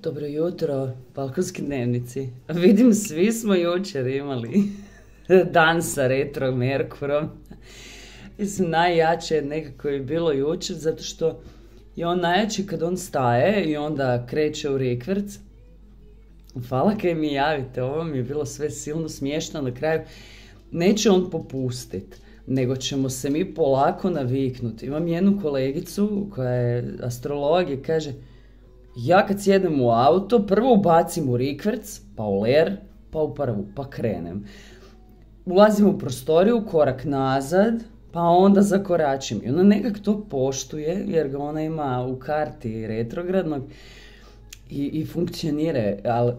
Dobro jutro, balkonski dnevnici. Vidim, svi smo jučer imali dan sa retro Merkurom. Mislim, najjače nekako je bilo jučer, zato što je on najjači kad on staje i onda kreće u rikverc. Hvala kaj mi javite, ovo mi je bilo sve silno smiješno na kraju. Neće on popustit, nego ćemo se mi polako naviknuti. Imam jednu kolegicu koja je astrolog i kaže: ja kad sjednem u auto, prvo ubacim u rikverc, pa u ler, pa u prvu, pa krenem. Ulazim u prostoriju, korak nazad, pa onda zakoračim. I ona nekak to poštuje, jer ga ona ima u karti retrogradnog i funkcionira. Ali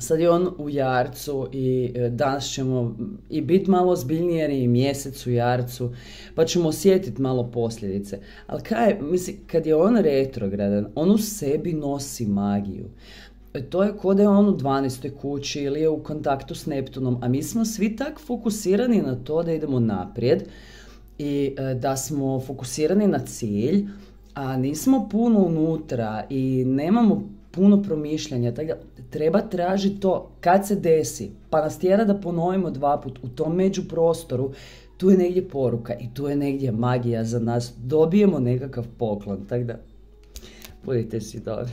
sad je on u jarcu i danas ćemo i biti malo ozbiljniji jer je i mjesec u jarcu, pa ćemo osjetiti malo posljedice. Ali kad je on retrogradan, on u sebi nosi magiju. To je kao da je on u 12. kući ili je u kontaktu s Neptunom, a mi smo svi tak fokusirani na to da idemo naprijed i da smo fokusirani na cilj, a nismo puno unutra i nemamo puno promišljanja, tako da treba tražiti to kad se desi, pa nas tjera da ponovimo 2 puta u tom međuprostoru. Tu je negdje poruka i tu je negdje magija za nas, dobijemo nekakav poklon, tako da budite si dobri.